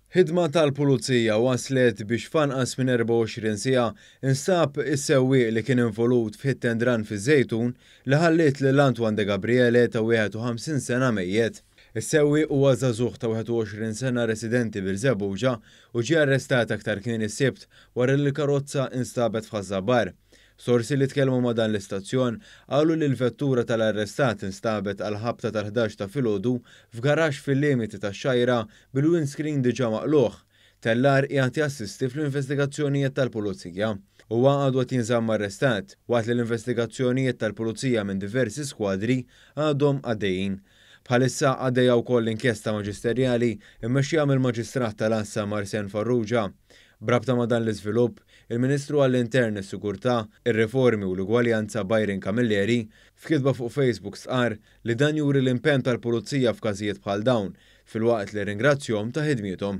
Ħidma tal-Pulizija waslet biex f'anqas minn 24 siegħa instab is-sewwieq li kien involut f'hit and run fiż-Żejtun li ħalliet lil Antoine De Gabriele ta' 51 sena mejjet. Is-sewwieq huwa żagħżugħ ta' 21 sena residenti Birżebbuġa u ġie arrestat aktar kmieni s-Sibt wara li l-karozza instabet f'Ħaż-Żabbar. Sorsi li tkellmu ma' dan l-istazzjon qalu li l-vettura tal-arrestat instabet għall-ħabta tal-11 ta' filgħodu f'garaxx fil-limiti tax-Xgħajra bil-windscreen diġà maqlugħ. Tellar qiegħed jassisti fl-investigazzjonijiet tal-Pulizija. Huwa għadu qed jinżamm arrestat, waqt li l-investigazzjonijiet tal-Pulizija minn diversi skwadri għadhom għaddejjin. Bħalissa għaddejja wkoll inkjesta maġisterjali mmexxija mill-Maġistrat tal-Għassa Marsen Farrugia. B'rabta ma' dan l-iżvilupp, il-Ministru għall-Intern, is-Sigurtà, ir-Riformi u l-Ugwaljanza Byron Camilleri, f'kitba fuq Facebook stqarr li dan juri l-impenn tal-Pulizija f'każijiet bħal dawn, filwaqt li rringrazzjahom ta' ħidmiethom.